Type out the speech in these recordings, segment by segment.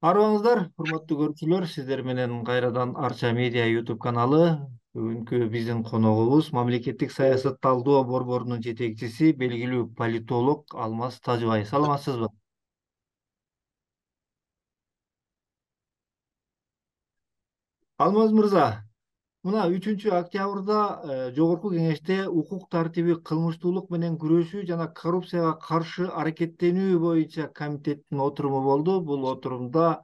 Арыбаңыздар, урматтуу көрүүчүлөр, сиздер менен кайрадан Арча медиа YouTube каналы. Бүгүнкү биздин коногубуз мамлекеттик саясат талдоо борборунун жетекчиси, белгилүү политолог Алмаз Тажыбай. Саламатсызбы? Алмаз мырза, мына 3 октябрда Жогорку Кеңеште укук тартиби, кылмыштуулук менен күрөшүү жана коррупцияга каршы аракеттенүү боюнча комитеттин отуруму болду. Бул отурумда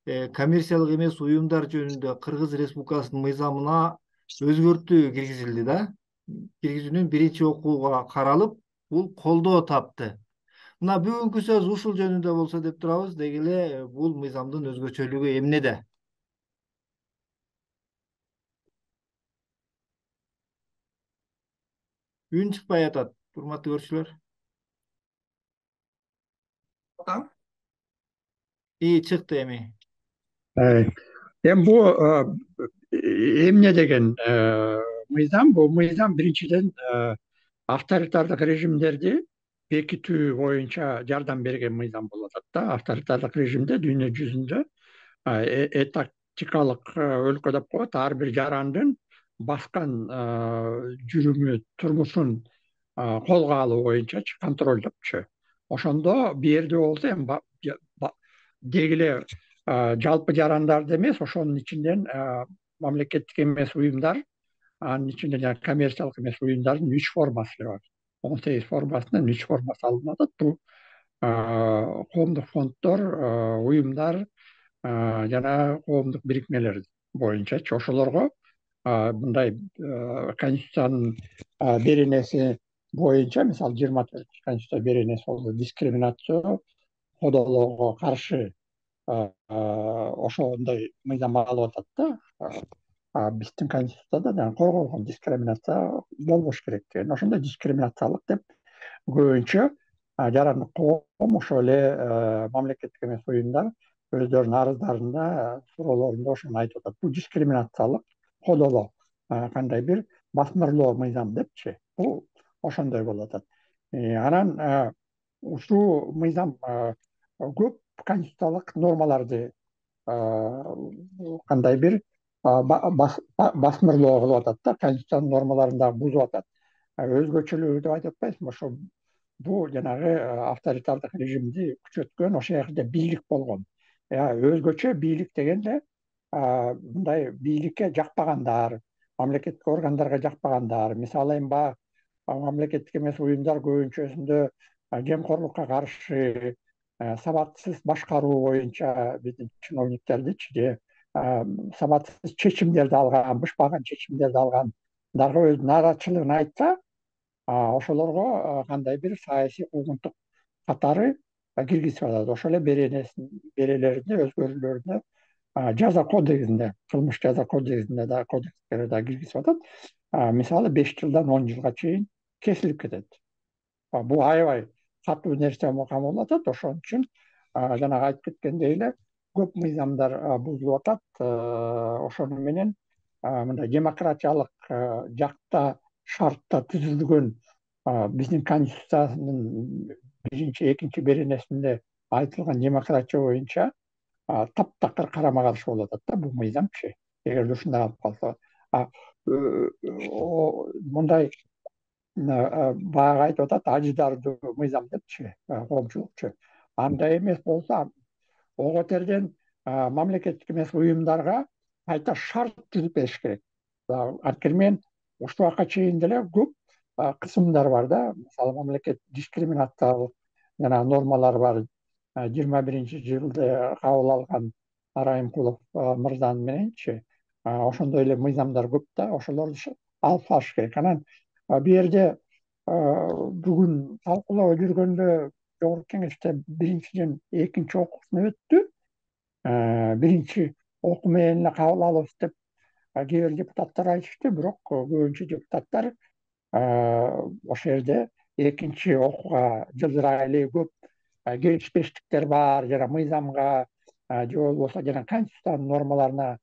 коммерциялык эмес уюмдар жөнүндө Кыргыз Республикасынын мыйзамына өзгөртүү киргизилди да. Киргизүүнүн биринчи окууга каралып, бул колдоо тапты. Мына бүгүнкү сөз ушул жөнүндө болсо деп турабыз. Деги эле бул мыйзамдын өзгөчөлүгү эмнеде? Үн чыкпай атат, урматтуу көрүүчүлөр. Чыкты эми. Э, Эми бул эмне деген мыйзам? Бул мыйзам биринчиден авторитардык режимдерди бекитүү боюнча жардам берген мыйзам болуп атат да. Авторитардык режимде дүйнө жүзүндө этатикалык өлкө деп коет. Ар бир жарандын баскан жүрүмү, турмушун колго алуу боюнчачы контролдопчу. Ошондо бул жерде болсо эми деги эле жалпы жарандарды эмес, ошонун ичинен мамлекеттик эмес уюмдар, анын ичинде жана коммерциялык эмес уюмдардын 3 формасы бар. 18 формасынан 3 формасы алынып атат. Бул коомдук фонддор, уюмдар жана коомдук бирикмелер боюнчачы. Ошолорго мындай Конституциянын беренеси боюнча, мисалы 24 Конституция беренеси болду, дискриминация, кодоолоого каршы ошондой мыйзам алып атат да. Биздин Конституцияда жана корголгон дискриминация болбош керек деген. Ошондой дискриминациялык деп көбүнчө жарандык коом, ошол эле мамлекеттик эмес уюмдар өздөрүнүн арыздарында, суроолорунда ошону айтып атат. Бул дискриминациялык кодолоо, кандай бир басмырлоо мыйзам депчи. Бул ошондой болуп атат. Анан ушул мыйзам көп конституциялык нормаларды кандай бир басмырлоо кылып атат да, конституциянын нормаларын дагы бузуп атат. Өзгөчөлүгү деп айтып атпайсызбы? Ошо бул жанагы авторитардык режимди күчөткөн, ошол жерде бийлик болгон. Өзгөчө бийлик дегенде мындай бийликке жакпагандар, мамлекеттик органдарга жакпагандар, мисалы эми баягы мамлекеттик эмес уюмдар көбүнчөсүндө жемкорлукка каршы, сабатсыз башкаруу боюнча биздин чиновниктердичи же сабатсыз чечимдерди алган, бышпаган чечимдерди алгандарга өз нааразычылыгын айтса, ошолорго кандай бир саясий куугунтук катары киргизип атат. Ошол эле берелеринде, өзгөрүүлөрүндө жаза кодексинде, кылмыш жаза кодексинде да, кодекстерге да киргизип атат. Мисалы 5 жылдан 10 жылга чейин кесилип кетет. Бул аябай катуу нерсе кабыл болуп атат. Ошон үчүн жанагы айтып кеткендей эле көп мыйзамдар бузулуп атат. Ошону менен мындай демократиялык жакта шартта түзүлгөн биздин Конституциянын биринчи, экинчи беренесинде айтылган демократия боюнча таптакыр карама каршы болуп атат да бул мыйзамчы. Эгерде ушундай алып калса, мындай баягы айтып атат, ажыдардуу мыйзам депчи, коомчулукчу. Андай эмес болсо, ого терден мамлекеттик эмес уюмдарга кайта шарт түзүп бериш керек. Анткени мен ушул убакка чейин деле көп кысымдар бар да. Мисалы мамлекет дискриминациялык жана нормалар бар. 21-жылда кабыл алган Райымкулов мырзанын мененчи, ошондой эле мыйзамдар көп да, ошолорду алып салыш керек. Анан бул жерде бүгүн талкуулап жүргөндө Жогорку Кеңеште биринчиден экинчи окуусуна өттү. Биринчи окуу менен эле кабыл алабыз деп кээ бир депутаттар айтышты, бирок көбүнчө депутаттар ошол жерде экинчи окууга жылдырак эле көп келишпештиктер бар, жана мыйзамга же болбосо жана Конституциянын нормаларына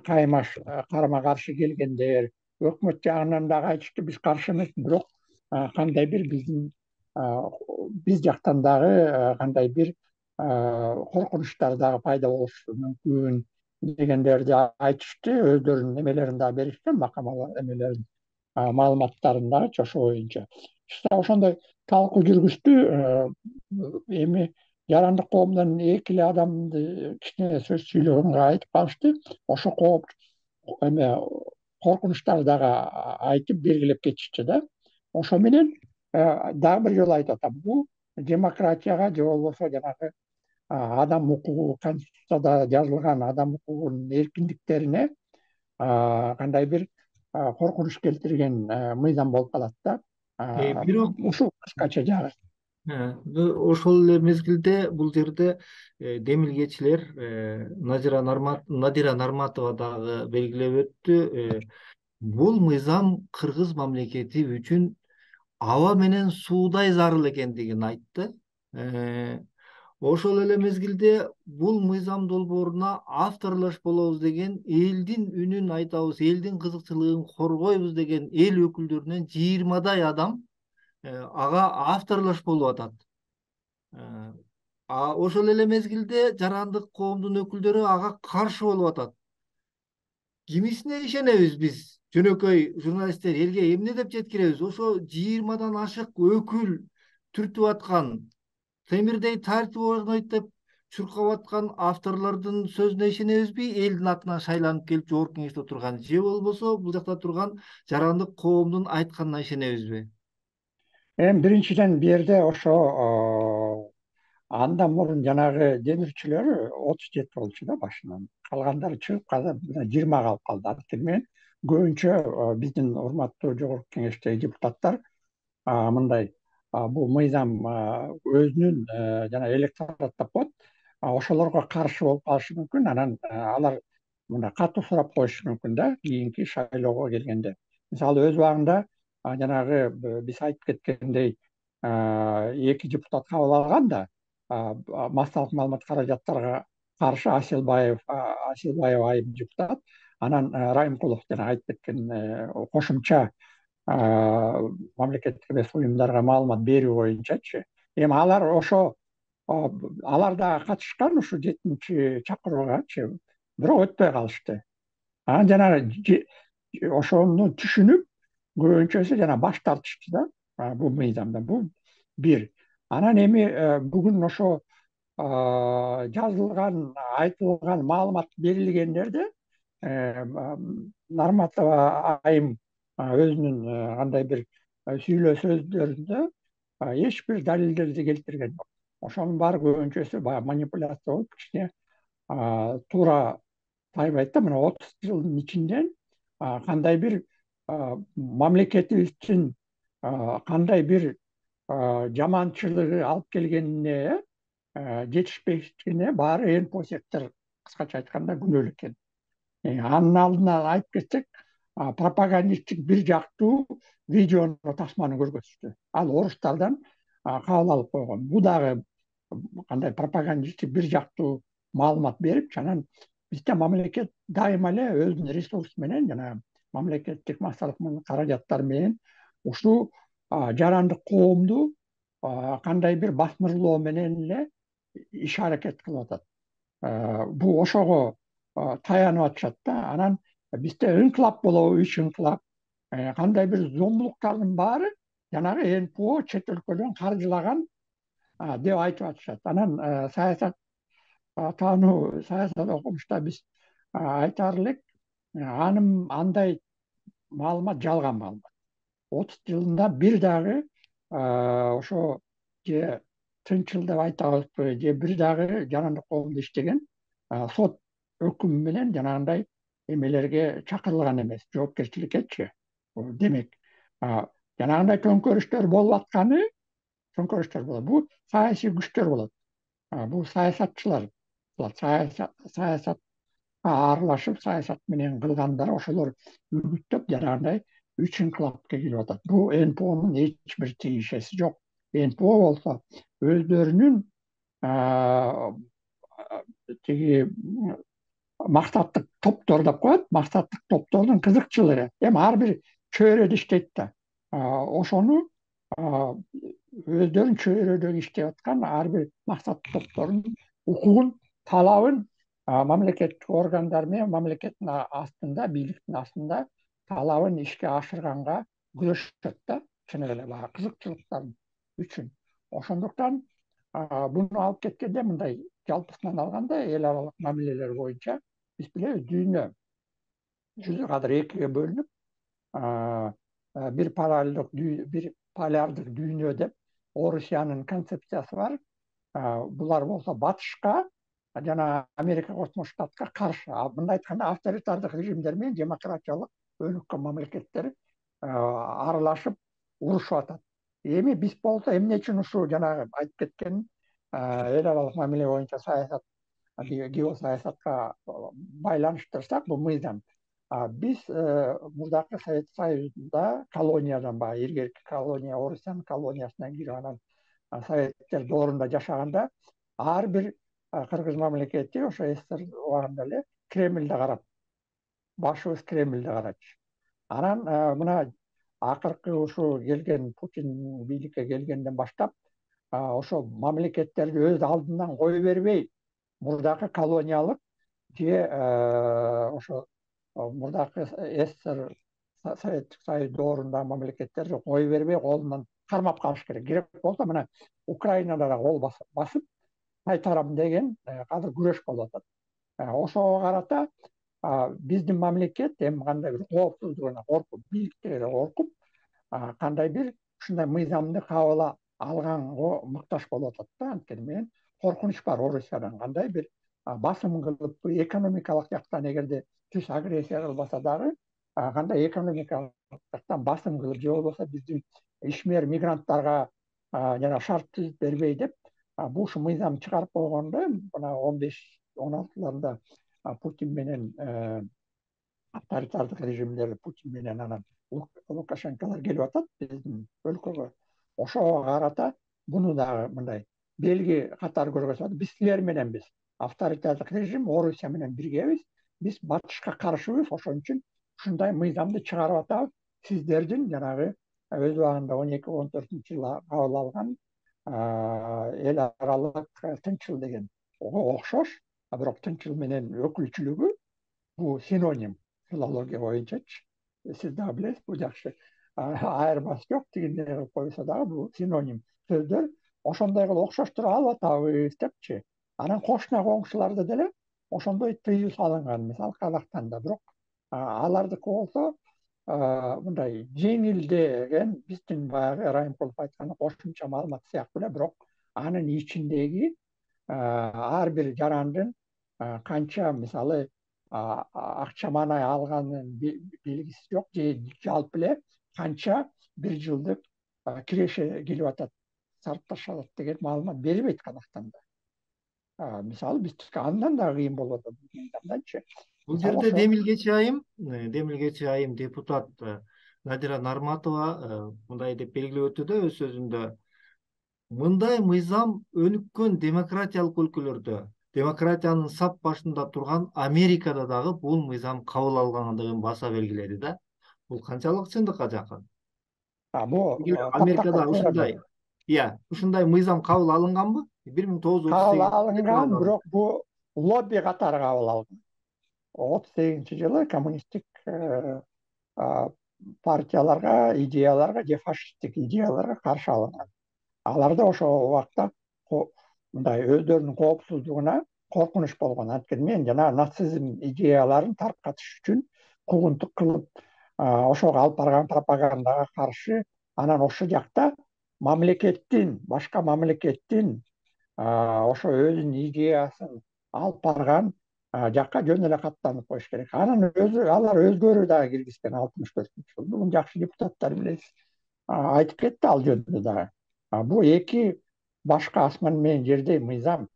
карама каршы келгендер, өкмөт жагынан дагы айтышты, биз каршы эмеспиз, бирок кандай бир биз жактан дагы кандай бир коркунучтар дагы пайда болушу мүмкүн дегендерди айтышты, өздөрүнүн эмелерин дагы беришти, макама эмелерин, маалыматтарын дагычы ошо боюнча. Ошондой талкуу жүргүздү. Эми жарандык коомдон эки эле адамды кичине сөз сүйлөгөнгө айтып калышты. Ошо кооп эме коркунучтарды дагы айтып белгилеп кетишти да. Ошо менен дагы бир жолу айтып атам, бул демократияга же болбосо жанагы адам укугу, Конституцияда жазылган адам укугунун эркиндиктерине кандай бир коркунуч келтирген мыйзам болуп калат да. Бирок Ушул кыскача жагы. ошол эле мезгилде бул жерде демилгечилер Надира Нарматова дагы белгилеп өттү. Бул мыйзам кыргыз мамлекети үчүн аба менен суудай зарыл экендигин айтты. Ошол эле мезгилде бул мыйзам долбооруна авторлош болобуз деген, элдин үнүн айтабыз, элдин кызыкчылыгын коргойбуз деген эл өкүлдөрүнөн 20 адам ага авторлош болуп атат. Ошол эле мезгилде жарандык коомдун өкүлдөрү ага каршы болуп атат. Кимисине ишенебиз биз, жөнөкөй журналисттер, элге эмне деп жеткиребиз? Ошо 20 ашык өкүл түртүп аткан, темирдей тартип орнойт деп чуркап аткан авторлордун сөзүнө ишенебизби? Элдин атынан шайланып келип жогорку кеңеште отурган, же болбосо бул жакта турган жарандык коомдун айтканына ишенебизби? Эми биринчиден бу жерде ошо андан мурун жанагы демирчилер 37 болчу да башынан. Калгандары чыгып каза 20 калып калды. Анткени мен көбүнчө биздин урматтуу жогорку кеңештеги депутаттар мындай бул мыйзам өзүнүн жана электорат деп коет, ошолорго каршы болуп калышы мүмкүн. Анан алар мындай катуу сурап коюшу мүмкүн да кийинки шайлоого келгенде. Мисалы өз убагында жанагы биз айтып кеткендей эки депутат кабыл алган да массалык маалымат каражаттарга каршы Аселбаева айым депутат, анан Райымкулов жана айтып кеткен кошумча мамлекеттик эмес уюмдарга маалымат берүү боюнчачы. Эми алар ошо алар дагы катышкан ушул 7-чакыруугачы, бирок өтпөй калышты. Анан жанагы ошону түшүнүп көбүнчөсү жана баш тартышты да бул мыйзамдан. Бул бир. Анан эми бүгүн ошо жазылган, айтылган, маалымат берилгендерде Нарматова айым өзүнүн кандай бир сүйлөө сөздөрүндө эч бир далилдерди келтирген жок. Ошонун баары көбүнчөсү баягы манипуляция болуп, кичине туура тайбайт да. Мына 30 жылдын ичинде кандай бир мамлекетибиздин кандай бир жаманчылыгы алып келгенине жетишпештигине баары эн по сектор кыскача айтканда күнөөлүү экен. Анын алдына айтып кетсек, пропагандисттик бир жактуу видеону, тасманы көргөзүштү. Ал орустардан кабыл алып койгон. Бул дагы кандай пропагандисттик бир жактуу маалымат берип, анан бизде мамлекет дайыма эле өзүнүн ресурсу менен жана мамлекеттик массалык каражаттар менен ушул жарандык коомду кандай бир басмырлоо менен эле иш аракет кылып атат. Бул ошого таянып атышат да. Анан бизде инкылап болобу, үч инкылап, кандай бир зомбулуктардын баары жанагы НПО чет өлкөдөн каржылаган деп айтып атышат. Анан саясат таануу, саясат окумушта биз айтаар элек, андай маалымат жалган маалымат. 30 жылында бир дагы ошо же тынчыл деп айтабызбы, же бир дагы жарандык коомдо иштеген сот өкүмү менен жанагындай эмелерге чакырылган эмес, жоопкерчиликкечи. Демек, жанагындай төңкөрүштөр болуп атканы, төңкөрүштөр болот. Бул саясий күчтөр болот. Бул саясатчылар, саясатка аралашып, саясат менен кылгандар, ошолор үгүттөп жанагындай үч инкылапка келип атат. Бул НПОнун эч бир тиешеси жок. НПО болсо өздөрүнүн тиги максаттык топтор деп коет, максаттык топтордун кызыкчылыгы. Эми ар бир чөйрөдө иштейт да. Ошону өздөрүн чөйрөдөгү иштеп аткан ар бир максат топторунун укугун, талабын мамлекеттик органдар менен мамлекеттин астында, бийликтин астында талабын ишке ашырганга күрөшөт да, чын эле баягы кызыкчылыктар үчүн. Ошондуктан буну алып кеткенде мындай жалпысынан алганда эл аралык мамилелер боюнча биз билебиз дүйнө жүзү кадыр экиге бөлүнүп, бир полярдык дүйнө деп Орусиянын концепциясы бар. Булар болсо батышка жана Америка Кошмо Штатка каршы. Мындай айтканда авторитардык режимдер менен демократиялык өнүккөн мамлекеттер аралашып урушуп атат. Эми биз болсо эмне үчүн ушул жанагы айтып кеткен эл аралык мамиле боюнча саясат, геосаясатка байланыштырсак, бул мыйзам. Биз мурдакы Совет Союзунда колониядан, баягы илгерки колония, Орусиянын колониясынан кирип, анан советтер доорунда жашаганда ар бир кыргыз мамлекети ошо СССР убагында эле Кремльде карап, башыбыз Кремльде карачу. Анан мына акыркы ушул келген Путин бийликке келгенден баштап ошо мамлекеттерди өз алдынан кое бербей, мурдакы колониялык же ошо мурдакы СССР, Советтик Союз доорундагы мамлекеттерди кое бербей, колунан кармап калыш керек. Керек болсо мына Украинада да кол басып кайтарам деген азыр күрөш болуп атат. Ошого карата биздин мамлекет эми кандай бир коопсуздугуна коркуп, бийликтери коркуп, кандай бир ушундай мыйзамды кабыл алганга муктаж болуп атат да. Анткени менен коркунуч бар Орусиядан, кандай бир басым кылып, экономикалык жактан эгерде түз агрессия кылбаса дагы, кандай экономикалык жактан басым кылып, же болбосо биздин ишмер мигранттарга жана шарт түзүп бербей деп, бул ушу мыйзам чыгарып койгондо мына 15-16-ларында Путин менен авторитардык режимдер, Путин менен анан Лукашенколор келип атат биздин өлкөгө. Ошого карата буну дагы мындай белги катары көргөзүп атат. Биз силер мененбиз. Авторитардык режим Орусия менен биргебиз. Биз батышка каршыбыз. Ошон үчүн ушундай мыйзамды чыгарып атабыз. Сиздердин жанагы өз убагында 12-14-жылы кабыл алган эл аралык тынчыл деген окшош, бирок тынчыл менен өкүлчүлүгү бул синоним филология боюнчачы. Сиз дагы билесиз, бул жакшы айырмасы жок, тигиндей кылып койсо дагы бул синоним сөздөр. Ошондой кылып окшоштура алып атабыз депчи. Анан кошуна коңшуларда деле ошондой тыюу салынган, мисалы Казакстанда. Бирок алардыкы болсо мындай жеңилдеген, биздин баягы Райымкулов айткандай кошумча маалымат сыяктуу эле, бирок анын ичиндеги ар бир жарандын канча, мисалы, акча маанай алганын белгиси жок, же жалпы эле канча бир жылдык киреше келип атат, сарпташалат деген маалымат берилбейт Казакстанда. Мисалы биздики андан да кыйын болуп атат мыйзамданчы. Бул Мисалы жерде ошо демилгечи айым депутат Надира Нарматова мындай деп белгилеп өтү да өз сөзүндө: мындай мыйзам өнүккөн демократиялык өлкөлөрдө, демократиянын сап башында турган Америкада дагы бул мыйзам кабыл алынгандыгын баса белгиледи да. Бул канчалык чындыкка жакын? бул Америкада тooра ушундай, ушундай мыйзам кабыл алынганбы? кабыл 1938 кабыл алынган, алынган. бирок бул лобби катары кабыл алынган. 38-жылы коммунисттик партияларга, идеяларга же фашисттик идеяларга каршы алынган. Алар да ошол убакта мындай өздөрүнүн коопсуздугуна коркунуч болгон. Анткени мен жана нацизм идеяларын таркатыш үчүн куугунтук кылып, ошого алып барган пропагандага каршы, анан ошол жакта башка мамлекеттин ошо өзүнүн идеясын алып барган жакка жөн эле каттанып коюш керек. Анан алар өзгөрүү дагы киргизген 64-жылы. Муну жакшы депутаттар билесиз. Айтып кетти ал жөнүндө дагы. Бул эки башка асман менен жердей мыйзам.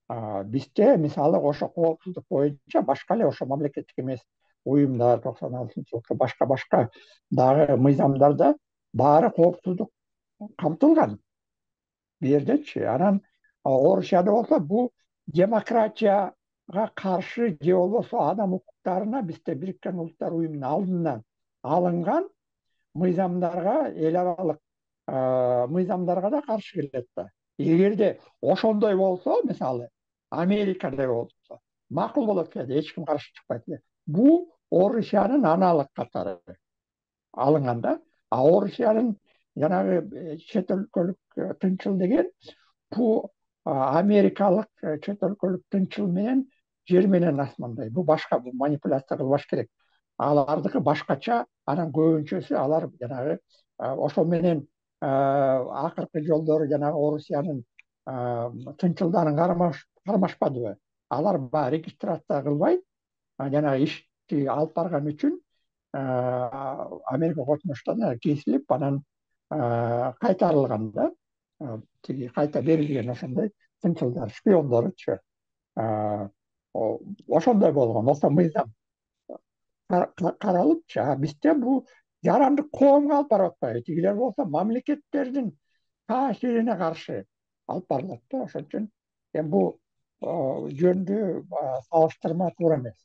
Бизде мисалы ошо коопсуздук боюнча башка эле ошо мамлекеттик эмес уюмдар 96-жылкы башка дагы мыйзамдарда баары коопсуздук камтылган бул жердечи. Анан Орусияда болсо бул демократияга каршы же болбосо адам укуктарына бизде Бириккен Улуттар уюмунун алдынан алынган мыйзамдарга эл аралык мыйзамдарга да каршы келет да. Эгерде ошондой болсо, мисалы Америкадай болсо макул болот эле, эч ким каршы чыкпайт эле. Бул Орусиянын аналык катары алынган да. А Орусиянын жанагы чет өлкөлүк тынчыл деген бул америкалык чет өлкөлүк тынчыл менен жер менен асмандай. Бул башка, бул манипуляция кылбаш керек. Алардыкы башкача, анан көбүнчөсү алар жанагы ошол менен акыркы жолдору жанагы Орусиянын тынчылдарын кармашпадыбы? Алар баягы регистрация кылбай жанагы ишти алып барган үчүн Америка Кошмо Штаттарына кесилип, анан кайтарылган да. Тиги кайта берилген ошондой тынчылдар, шпиондоручу. Ошондой болгон, ошо мыйзам каралыпчы. А бизде бул жарандык коомго алып барып атпайбы? Тигилер болсо мамлекеттердин таасирине каршы алып барылат да. Ошон үчүн эми бул жөндүү салыштырма туура эмес.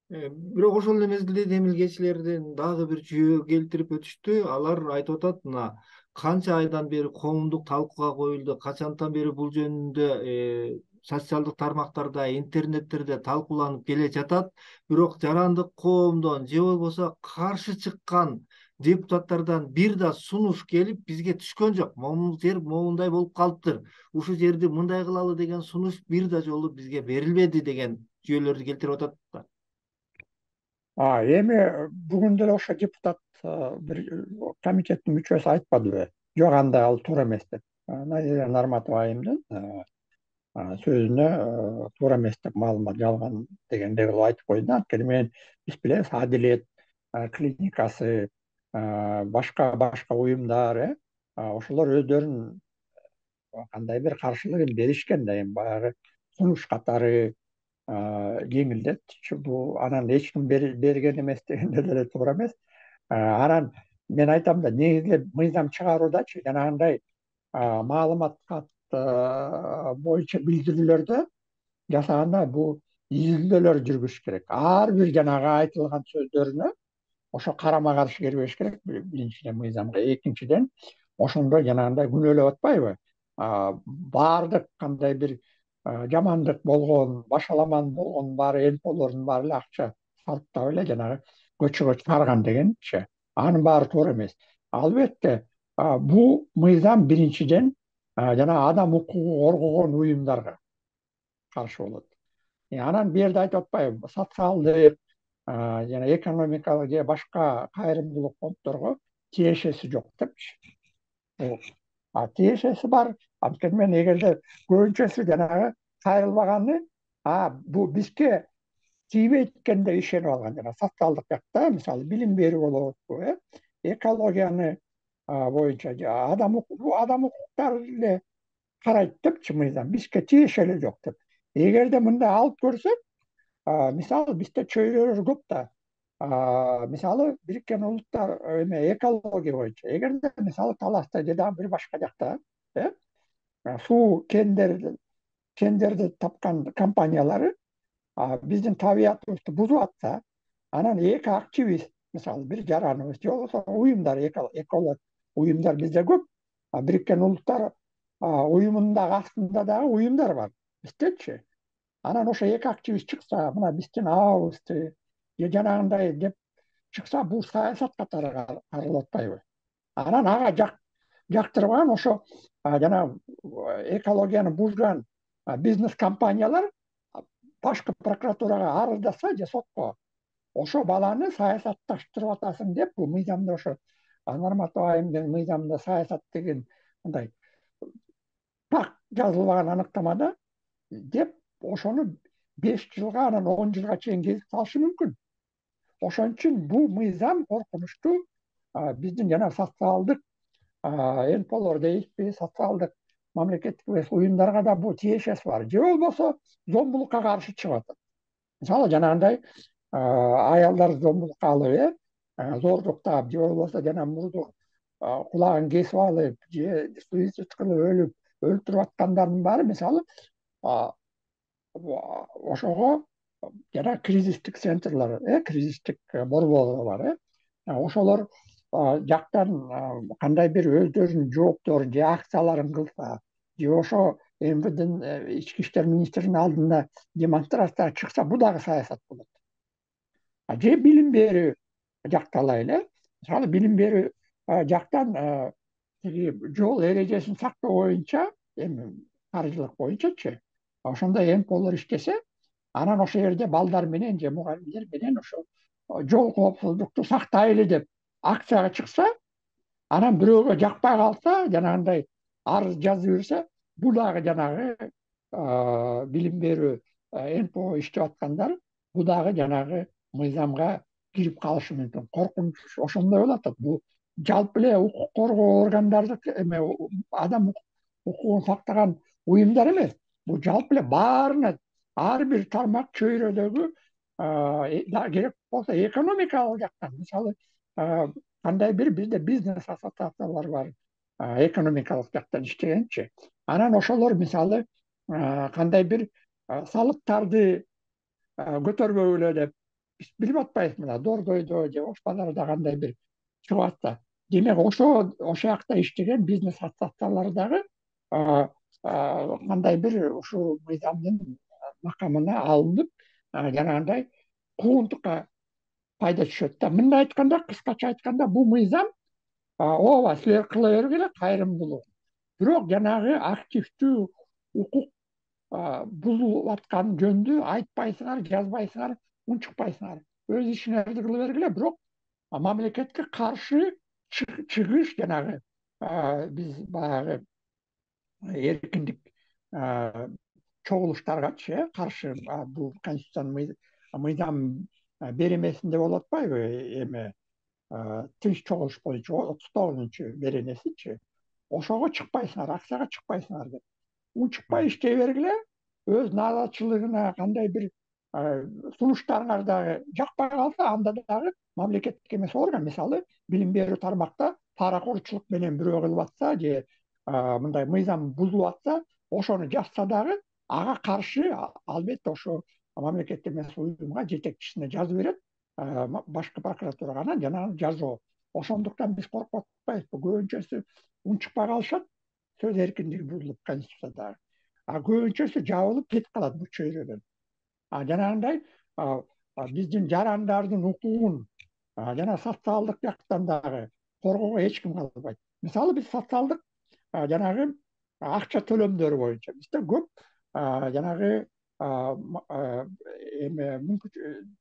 Бирок ошол эле мезгилде демилгечилердин дагы бир жүйө келтирип өтүштү. Алар айтып атат, мына канча айдан бери коомдук талкууга коюлду, качантан бери бул жөнүндө социалдык тармактарда, интернеттерде талкууланып келе жатат. Бирок жарандык коомдон же болбосо каршы чыккан депутаттардан бир да сунуш келип бизге түшкөн жок. Могу жер моундай болуп калыптыр. Ушул жерди мындай кылалы деген сунуш бир да жолу бизге берилбеди деген жүйөлөрдү келтирип атат да. Эми бүгүн деле ошо депутат бир комитеттин мүчөсү айтпадыбы? Жок, андай ал туура эмес деп. Назира Нарматова айымдын сөзүнө туура эмес деп, маалымат жалган дегендей кылып айтып койду. Анткени мен биз билебиз, Адилет клиникасы, башка уюмдар, ошолор өздөрүнүн кандайдыр каршылыгын беришкен да. Эми баягы сунуш катары жеңилдетчү бул, анан эч ким берген эмес дегенде деле туура эмес. Анан мен айтам да, негизи мыйзам чыгаруудачы жанагындай маалымат кат боюнча билдирүүлөрдө жасаганда бул изилдөөлөр жүргүзүш керек. Ар бир жанагы айтылган сөздөрүнө ошо карама каршы келбеш керек, биринчиден мыйзамга. Экинчиден, ошондой жанагындай күнөөлөп атпайбы? Баардык кандай бир жамандык болгон, башаламан болгон баары НПОлордун баары эле акча салыптап эле жанагы көчөгө чыгарган дегенчи. Анын баары туура эмес. Албетте, бул мыйзам биринчиден жана адам укугун коргогон уюмдарга каршы болот. Анан бул жерде айтып атпайбы, социалдык жана экономикалык же башка кайрымдуулук фонддорго тиешеси жок депчи. Тиешеси бар. Анткени мен эгерде көбүнчөсү жанагы кайрылбаганы, бул бизге тийбейт экенин ишенип алган. Жана социалдык жакта, мисалы, билим берүү болобу, экологияны боюнча адам укуктары эле карайт депчи мыйзам. Бизге тиеше эле жок деп. Эгерде мындай алып көрсөк, мисалы, бизде чөйрөлөр көп да. Мисалы, Бириккен Улуттар экология боюнча. Эгерде мисалы Таласта же дагы бир башка жакта суу кендерди тапкан компаниялары биздин табиятыбызды бузуп атса, анан эки активист, мисалы, бир жараныбыз же болбосо уюмдар, эколог уюмдар бизде көп. Бириккен Улуттар уюмунун дагы астында дагы уюмдар бар, биздечи. Анан ошо эки активист чыкса, мына биздин абабызды же жанагындай деп чыкса, бул саясат катары каралып атпайбы? Анан ага жактырбаган ошо жана экологияны бузган бизнес компаниялар башкы прокуратурага арыздаса же сотко, ошо баланы саясатташтырып атасың деп, бул мыйзамда ошо Нарматова айымдын мыйзамда саясат деген мындай так жазылбаган аныктамада деп, ошону 5 жылга, анан 10 жылга чейин кезип салышы мүмкүн. Ошон үчүн бул мыйзам коркунучтуу. Биздин жана социалдык НПОлор дейбизби, социалдык мамлекеттик эмес уюмдарга да бул тиешеси бар. Же болбосо зомбулукка каршы чыгып атат. Мисалы, жанагындай аялдар зомбулукка алып, зордуктап, же болбосо жана мурду кулагын кесип алып, же суицид кылып өлтүрүп аткандардын баары, мисалы, ошого жана кризистик центрлер, кризистик борборлор бар, ошолор жактан кандай бир өздөрүнүн жоопторун же акцияларын кылса, же ошо МВДнын ички иштер министринин алдында демонстрацияга чыкса, бул дагы саясат болот. Же билим берүү жакты алайлы. Мисалы билим берүү жактан тиги жол эрежесин сактоо боюнча, эми каржылык боюнчачы, ошондой МПОлор иштесе, анан ошол жерде балдар менен же мугалимдер менен ошо жол коопсуздукту сактайлы деп акцияга чыкса, анан бирөөгө жакпай калса, жанагындай арыз жазып берсе, бул дагы жанагы билим берүү МПО иштеп аткандар, бул дагы жанагы мыйзамга кирип калышы мүмкүн. Коркунуч ошондой болуп атат. Бул жалпы эле укук коргоо органдардыкы эме, адам укугун сактаган уюмдар эмес. Бул жалпы эле баарына, ар бир тармак чөйрөдөгү керек болсо экономикалык жактан, мисалы кандай бир бизде бизнес ассоциациялар бар, экономикалык жактан иштегенчи. Анан ошолор мисалы кандай бир салыктарды көтөрбөгүлө деп биз билип атпайбыз, мына Дордойдо же Ош базарда кандай бир чыгып атса. Демек ошол жакта иштеген бизнес ассоциациялары дагы кандай бир ушул мыйзамдын макамына алынып, жанагындай куугунтукка пайда түшөт да. Мындай айтканда, кыскача айтканда, бул мыйзам ооба силер кыла бергиле кайрымдуулук. Бирок жанагы активдүү укук бузулуп аткан жөнүндө айтпайсыңар, жазбайсыңар, унчукпайсыңар. Өз ишиңерди кыла бергиле, бирок мамлекетке каршы чыгыш, жанагы биз баягы эркиндик чогулуштаргачы каршы бул конституциянын мыйзам беренесинде болуп атпайбы, эме тынч чогулуш боюнча 39 беренесичи, ошого чыкпайсыңар, акцияга чыкпайсыңар деп. Унчукпай иштей бергиле, өз наазачылыгына кандай бир сунуштарыңар дагы жакпай калса, анда дагы мамлекеттик эмес орган, мисалы билим берүү тармакта паракорчулук менен бирөө кылып атса, же мындай мыйзам бузулуп атса, ошону жазса дагы ага каршы албетте ошо мамлекеттик эмес уюмга, жетекчисине жазып берет башкы прокуратурага, анан жанагы жазоо. Ошондуктан биз коркуп атпайбызбы? Көбүнчөсү унчукпай калышат, сөз эркиндиги бузулуп конституцияда. Көбүнчөсү жабылып кетип калат бул чөйрөдөн. Жанагындай биздин жарандардын укугун жана социалдык жактан дагы коргоого эч ким калбайт. Мисалы биз социалдык жанагы акча төлөмдөрү боюнча бизде көп жанагы эме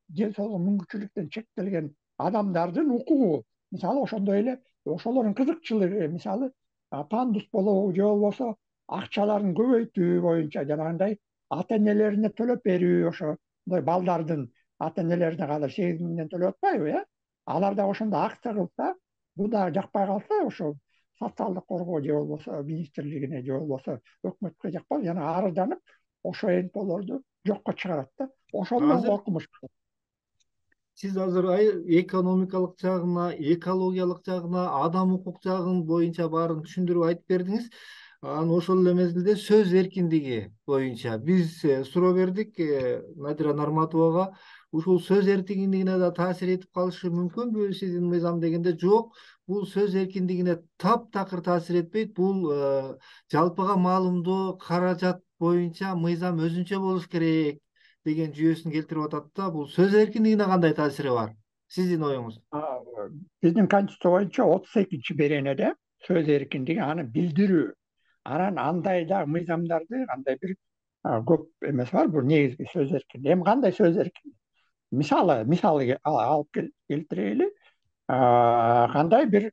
ден соолугу мүмкүнчүлүктөн чектелген адамдардын укугу, мисалы ошондой эле ошолордун кызыкчылыгы, мисалы пандус болобу же болбосо акчаларын көбөйтүү боюнча жанагындай ата энелерине төлөп берүү, ошондой балдардын ата энелерине казыр 8 000 төлөп атпайбы, алар да ошондо акция кылса, бул дагы жакпай калса, ошо социалдык коргоо же болбосо министрлигине же болбосо өкмөткө жакпай, жана арызданып, ошо НПОлорду жокко чыгарат да. Ошондон азыр коркунуч. сиз азыр экономикалык жагына, экологиялык жагына, адам укук жагын боюнча баарын түшүндүрүп айтып бердиңиз. Анан ошол эле мезгилде сөз эркиндиги боюнча биз суроо бердик Надира Нарматовага. Ушул сөз эркиндигине да таасир этип калышы мүмкүнбү сиздин мыйзам дегенде? Жок, бул сөз эркиндигине таптакыр таасир этпейт. Бул жалпыга маалымдоо, каражат боюнча мыйзам өзүнчө болуш керек деген жүйөсүн келтирип атат да. Бул сөз эркиндигине кандай таасири бар? Сиздин оюңуз? Биздин конституция боюнча 32-беренеде сөз эркиндиги, аны билдирүү. Анан андай да мыйзамдарды кандай бир көп эмеси бар, бул негизги сөз эркиндиги. Эми кандай сөз эркиндиги? Мисалы алып келтирели. Кандай бир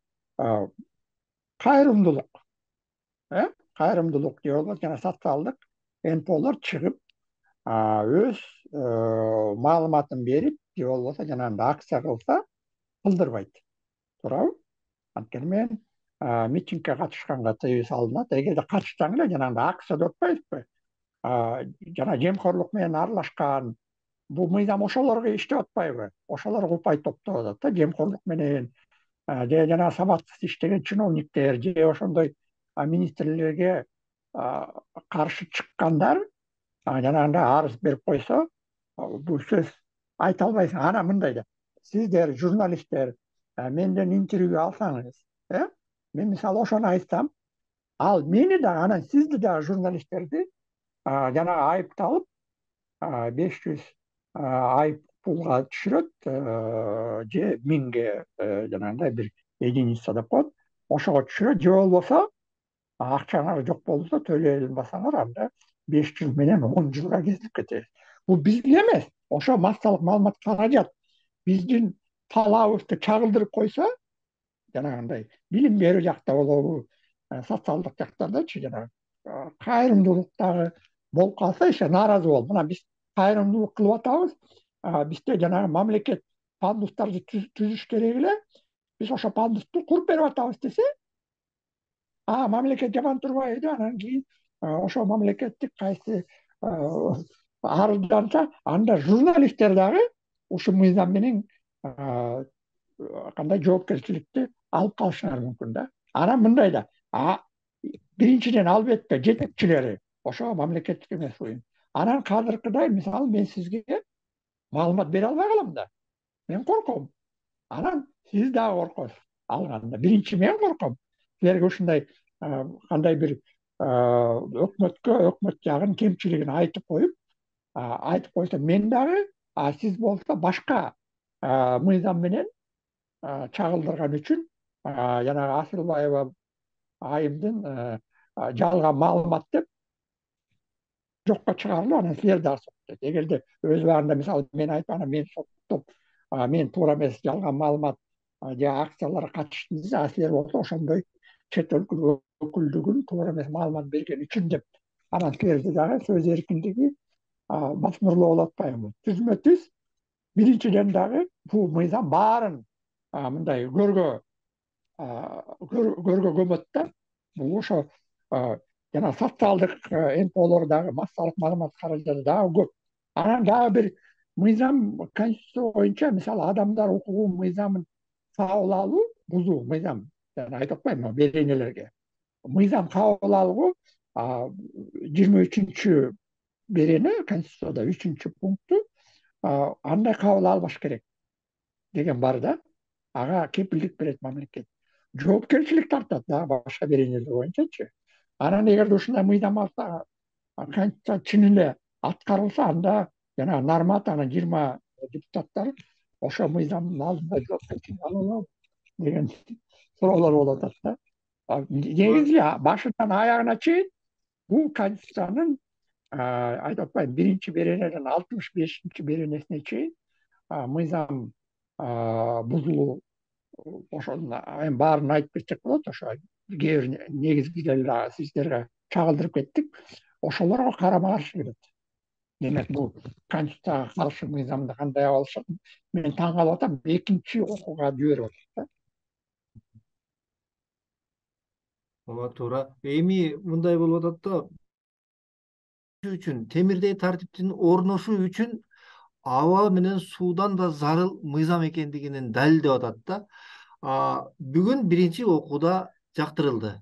кайрымдуулук, кайрымдуулук же болбосо жана социалдык НПОлор чыгып өз маалыматын берип, же болбосо жанагындай акция кылса, кылдырбайт. Туурабы? Анткени мен митингге катышканга тыюу салынат. Эгерде катышсаң эле жанагындай акция деп атпайбызбы? Жана жемкорлук менен аралашкан, бул мыйзам ошолорго иштеп атпайбы? Ошолорго упай топтоп атат да, жемкорлук менен же жана сабатсыз иштеген чиновниктер же ошондой министрлерге каршы чыккандар жанагындай арыз берип койсо, бул сөз айта албайсың. Анан мындай да, сиздер журналисттер менден интервью алсаңыз, мен мисалы ошону айтсам, ал мени дагы анан сизди дагы журналисттерди жанагы айыпталып 500 айып пулга түшүрөт, же 1000ге жанагындай бир единица деп коет, ошого түшүрөт, же болбосо акчаңар жок болсо төлөй албасаңар анда 5 жыл менен 10 жылга кезилип кетебиз. Бул бизге эмес, ошо массалык маалымат каражат биздин талабыбызды чагылдырып койсо, жанагындай билим берүү жакта болобу, социалдык жактардачы жанагы кайрымдуулук дагы болуп калса, еще нааразы болуп, мына биз кайрымдуулук кылып атабыз, бизде жанагы мамлекет пандустарды түзүш керек эле, биз ошо пандусту куруп берип атабыз десе, мамлекет жаман турбайбы, анан кийин ошо мамлекеттик кайсы арызданса, анда журналисттер дагы ушул мыйзам менен кандай жоопкерчиликти алып калышыңар мүмкүн да. Анан мындай да, биринчиден албетте жетекчилери ошо мамлекеттик эмес уюм. Анан казыркыдай мисалы мен сизге маалымат бере албай калам да. Мен корком. Анан сиз дагы коркосуз алганда. Биринчи мен корком. Силерге ушундай кандай бир өкмөт жагын кемчилигин айтып койсо мен дагы, сиз болсо башка мыйзам менен чагылдырган үчүн жанагы Асылбаева айымдын жалган маалымат деп жокко чыгарылып, анан силер дагы соттойт. Эгерде өз убагында мисалы мен айтып, анан мен соттоп, мен туура эмес жалган маалымат же акцияларга катыштым десе, силер болсо ошондой чет өлкө өкүлдүгүн туура эмес маалымат берген үчүн деп, анан силерди дагы сөз эркиндиги басмырлоо болуп атпайбы? Түзмө түз биринчиден дагы бул мыйзам баарын мындай көргө көмөт да. Бул ошо жана социалдык НПОлор дагы, массалык маалымат каражаты дагы көп. Анан дагы бир мыйзам, конституция боюнча мисалы адамдар укугу мыйзамын кабыл алуу, бузуу мыйзам, жана айтып атпаймынбы беренелерге. Мыйзам кабыл алуу 23 берене конституцияда 3 пункту андай кабыл албаш керек деген бар да. Ага кепилдик берет мамлекет. Жоопкерчилик тартат дагы башка беренелер боюнчачы. Анан эгерде ушундай мыйзам алса, конституция чын эле аткарылса, анда жанагы Нармат анан 20 депутаттар ошо мыйзамдын алдында жоопкерчилик ала алабы деген суроолор болуп атат да. Негизи башынан аягына чейин бул конституциянын айтып атпаймынбы, биринчи беренеден 65 беренесине чейин мыйзам бузулуу, ошонун эми баарын айтып кетсек болот. Ошо кээ бир негизгилерин сиздерге чагылдырып кеттик. Ошолорго карама каршы келет. Демек бул конституцияга каршы мыйзамды кандай алып алышат? Мен таң калып атам, экинчи окууга жиберип атат да. Ооба туура. Эми мындай болуп атат да, үчүн темирдей тартиптин орношуу үчүн аба менен суудан да зарыл мыйзам экендигинин далилдеп атат да. Бүгүн биринчи окууда жактырылды.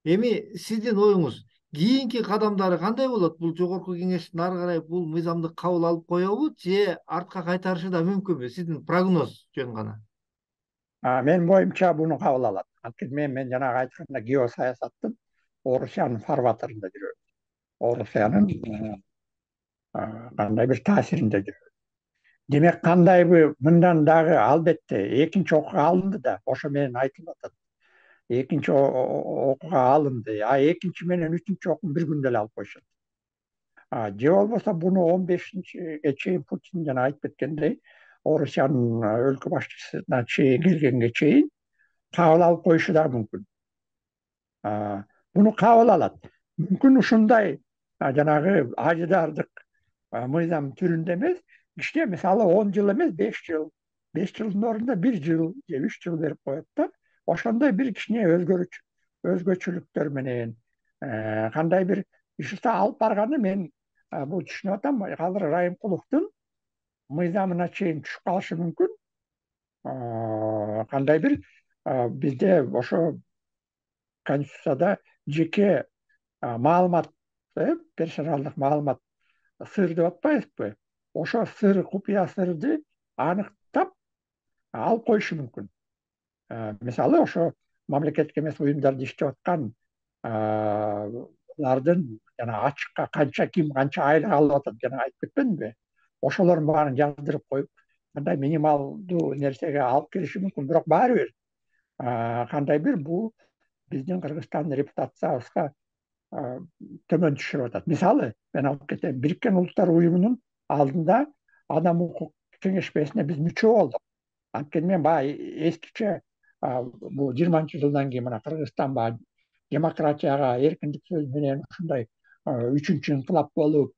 Эми сиздин оюңуз кийинки кадамдары кандай болот? Бул жогорку кеңеш ары карай бул мыйзамды кабыл алып коебу же артка кайтарышы да мүмкүнбү? Сиздин прогноз жөн гана. Менин боюмча буну кабыл алат. Анткени мен жанагы айтканда геосаясаттын Орусиянын фарватеринде жүрөм. Орусиянын кандай бир таасиринде жүрөм. Демек кандайбы мындан дагы албетте экинчи окууга алынды да, ошо менен айтылып атат. Экинчи окууга алынды. Экинчи менен үчүнчү окууну бир күндө эле алып коюшат. Же болбосо буну 15-ге чейин Путин жана айтып кеткендей, Орусиянын өлкө башчысына келгенге чейин кабыл алып коюшу да мүмкүн. Буну кабыл алат. Мүмкүн ушундай жанагы ажыдардык мыйзам түрүндө эмес, кичине мисалы 10 жыл эмес, 5 жыл, 5 жылдын ордуна 1 жыл же 3 жыл берип коет да. Ошондой бир кичине өзгөчөлүктөр менен кандай бир иш алып барганы мен бул түшүнүп атам. Азыр Райымкуловдун мыйзамына чейин түшүп калышы мүмкүн. Кандай бир бизде ошо конституцияда жеке маалымат, персоналдык маалымат сыр деп атпайбызбы? Ошо сыр, купуя сырды аныктап алып коюшу мүмкүн. мисалы ошо мамлекеттик эмес уюмдарда иштеп аткан алардын жана ачыкка ким канча айлык алып атат жана айтып кетпедимби, ошолордун баарын жаздырып коюп кандай минималдуу нерсеге алып келиши мүмкүн. Бирок баары бир кандай бир бул биздин Кыргызстандын репутациябызга төмөн түшүрүп атат. Мисалы мен алып кетейин, Бириккен Улуттар Уюмунун алдында Адам укук кеңешмесине биз мүчө болдук. Анткени мен баягы эскиче бул 20-жылдан кийин мына Кыргызстан баягы демократияга, эркиндик сөз менен ушундай үчүнчү инкылап болуп,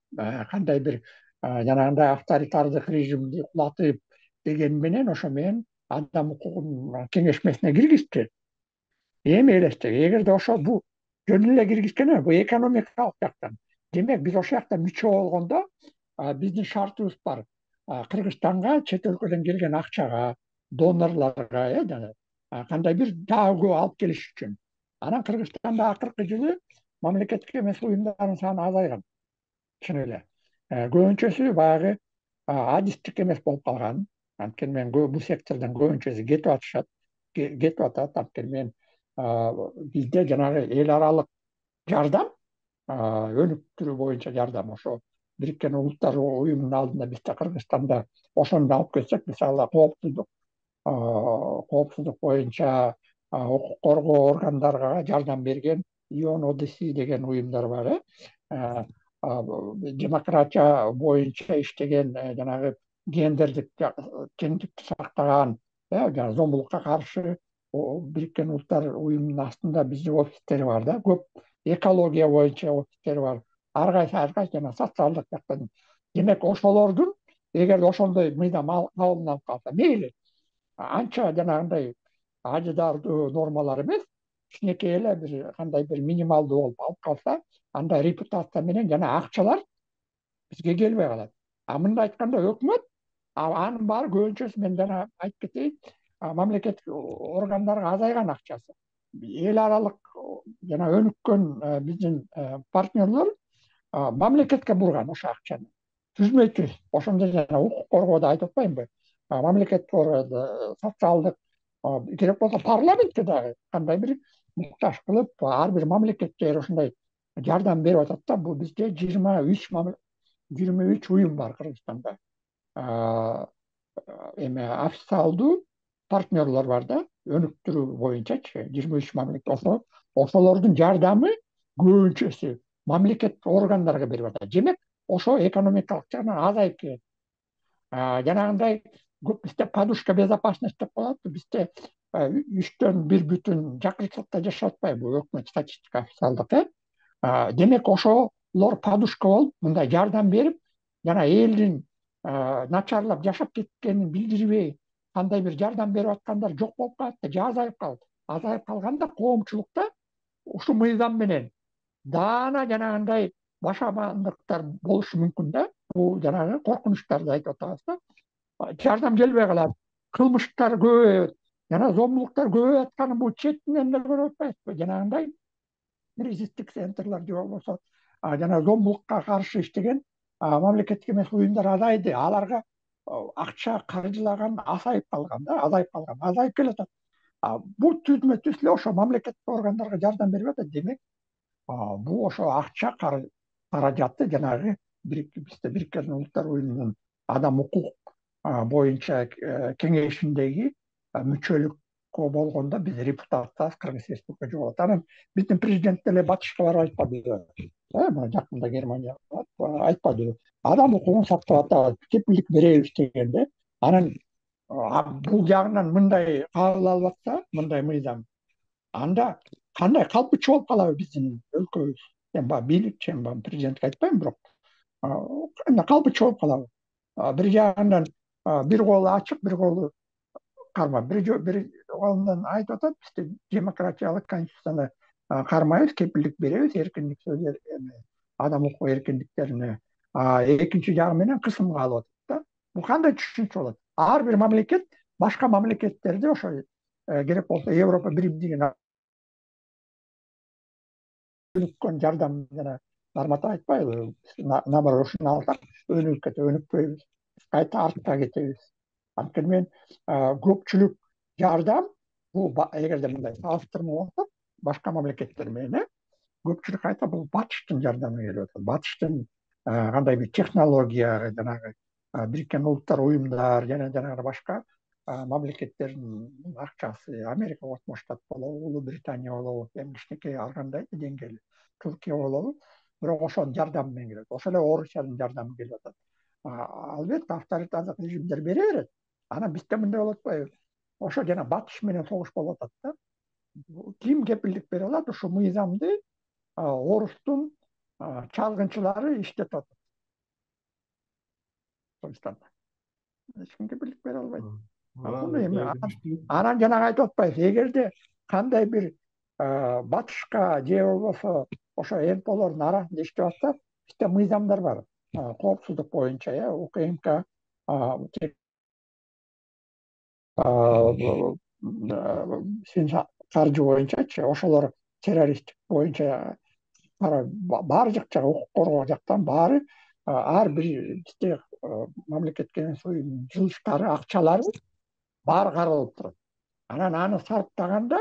кандай бир жанагындай авторитардык режимди кулатып деген менен ошо мен Адам укугунун кеңешмесине киргизчү. Эми элестек, эгерде ошо бул жөн эле киргизген эмес, бул экономикалык жактан. Демек биз ошол жакта мүчө болгондо биздин шартыбыз бар. Кыргызстанга чет өлкөдөн келген акчага, донорлорго жана кандай бир дагы көп алып келиш үчүн. Анан Кыргызстанда акыркы жылы мамлекеттик эмес уюмдардын саны азайган. Чын эле. Көбүнчөсү баягы адистик эмес болуп калган. Анткени мен бул сектордон көбүнчөсү кетип атат. Анткени мен бизде жанагы эл аралык жардам, өнүктүрүү боюнча жардам ошо Бириккен Улуттар Уюмунун алдында бизде Кыргызстанда ошону алып келсек, мисалы коопсуздук боюнча укук коргоо органдарга жардам берген ООН деген уюмдар бар. Демократия боюнча иштеген, жанагы гендердик теңдикти сактаган, жана зомбулукка каршы Бириккен Улуттар Уюмунун астында биздин офистери бар да, көп экология боюнча офистери бар. Ар кайсы жана социалдык жактан. Демек ошолордун эгерде ошондой мыйзам кабылданып калса, мейли анча жанагындай ажыдардуу нормалар эмес, кичинекей эле бир кандай бир минималдуу болуп алып калса, анда репутация менен жана акчалар бизге келбей калат. Мындай айтканда өкмөт анын баары көбүнчөсү, мен жана айтып кетейин, мамлекеттик органдарга азайган акчасы. Эл аралык жана өнүккөн биздин партнерлор мамлекетке бурган ошо акчаны. Түзмөй түз. Ошондо жана укук коргоодо айтып атпаймынбы? Мамлекеттик органда социалдык, керек болсо парламентке дагы кандай бир муктаж кылып, ар бир мамлекеттер ошондой жардам берип атат да. Бул бизде 23 уюм бар Кыргызстанда. Эме официалдуу партнерлор бар да, өнүктүрүү боюнчачы 23 мамлекет. Ошолордун жардамы көбүнчөсү мамлекеттик органдарга берип атат. Демек ошо экономикалык жактан азайып келет. Жанагындай көп бизде подушка безопасности деп коет. Бизде 3/1 жакырчылыкта жашап атпайбы өкмөт статистика официалдык. Демек ошолор подушка болуп, мындай жардам берип, жана элдин начарлап жашап кеткенин билдирбей, кандай бир жардам берип аткандар жок болуп калат да, же азайып калат. Азайып калганда коомчулукта ушул мыйзам менен даана жанагындай башабандыктар болушу мүмкүн да. Бул жанагы коркунучтарды айтып атабыз да. Жардам келбей калат, кылмыштар көбөйөт, жана зомбулуктар көбөйүп атканын бул четинен эле көрүп атпайбызбы? Жанагындай кризистик центрлер же болбосо жана зомбулукка каршы иштеген мамлекеттик эмес уюмдар азайды. Аларга акча каржылаган азайып келатат. Бул түзмө түз эле ошо мамлекеттик органдарга жардам берип атат. Демек бул ошо акча каражаты жанагы бизде Бириккен Улуттар Уюмунун адам укук боюнча кеңешиндеги мүчөлүккө болгондо биз репутациябыз Кыргыз Республика жоготот. Анан биздин президент деле батышка барып айтпадыбы? Жакында Германияга барып айтпадыбы? Адам укугун сактап атабыз, кепилдик беребиз дегенде. Анан бул жагынан мындай кабыл алып атса, мындай мыйзам, анда кандай калпычы болуп калабы биздин өлкөбүз? Мен баягы бийликчи, президентке айтпайм, бирок калпычы болуп калабы? Бир жагынан бир колу ачык, бир колу карма. Бир колунан айтып атат, бизде демократиялык конституцияны кармайбыз, кепилдик беребиз, эркиндик сөз, адам укук эркиндиктерине. Экинчи жагы менен кысымга алып атат да. Бул кандай түшүнүк болот? Ар бир мамлекет башка мамлекеттерди ошо керек болсо Европа биримдигин өнүккөн жардам жана кармата айтпайбы? Наоборот, ушуну алсак өнүкпөйбүз, кайта артка кетебиз. Анткени мен көпчүлүк жардам бул эгерде мындай салыштырма болсок башка мамлекеттер менен көпчүлүк айтат бул батыштын жардамы келип атат. Батыштын кандай бир технология, жанагы Бириккен Улуттар уюмдар жана жанагы башка мамлекеттердин акчасы, Америка Кошмо Штат болобу, Улуу Британия болобу, эми кичинекей алгандай деңгээли, Туркия болобу, бирок ошонун жардамы менен келет. Ошол эле Орусиянын жардамы келип атат. Албетте авторитардык режимдер бере берет. Анан бизде мындай болуп атпайбы? Ошо жана батыш менен согуш болуп атат да. Ким кепилдик бере алат ушул мыйзамды орустун чалгынчылары иштетип атат Кыргызстанда. Эч ким кепилдик бере албайт. Муну эми анан жанагы айтып атпайбыз, эгерде кандай бир батышка же болбосо ошо НПОлордун арасында иштеп атса, бизде мыйзамдар бар. Коопсуздук боюнча, УКМК, каржы боюнчачы, ошолор террористтик боюнча баары жакча укук коргоо жактан баары ар бир бизде мамлекетке менен жылыштары, акчалары баары каралып турат. Анан аны сарптаганда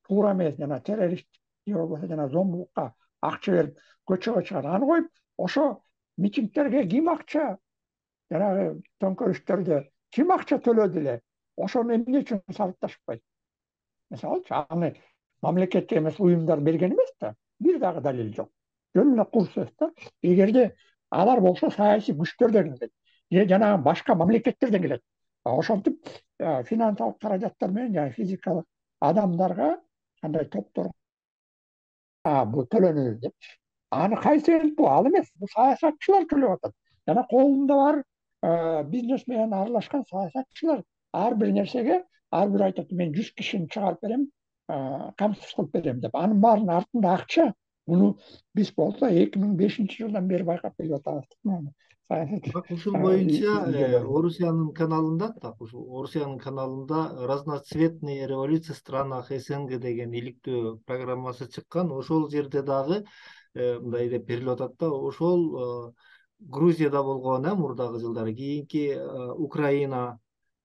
туура эмес, жана террорист же болбосо жана зомбулукка акча берип көчөгө чыгат. Аны коюп, ошо митингтерге ким акча, жанагы төңкөрүштөрдө ким акча төлөдү эле, ошону эмне үчүн сарапташпайт? Мисалычы, аны мамлекетке эмес уюмдар берген эмес да, бир дагы далил жок. Жөн эле кур сөз да. Эгерде алар болсо саясий күчтөрдөн келет, же жанагы башка мамлекеттерден келет. Ошентип финансылык каражаттар менен жана физикалык адамдарга, кандай топторго бул төлөнөт деп. Аны кайсы НПО? Ал эмес, бул саясатчылар төлөп атат. Жана колунда бар бизнес менен аралашкан саясатчылар ар бир нерсеге, ар бир айтат, мен 100 кишини чыгарып берем, камсыз кылып берем деп. Анын баарынын артында акча. Буну биз болсо 2005-жылдан бери байкап келип атабыз. Так ушул боюнча Орусиянын каналында разноцветные революции в странах СНГ деген иликтөө программасы чыккан. Ошол жерде дагы мындай деп берилип атат да, ошол Грузияда болгон мурдагы жылдары, кийинки Украина,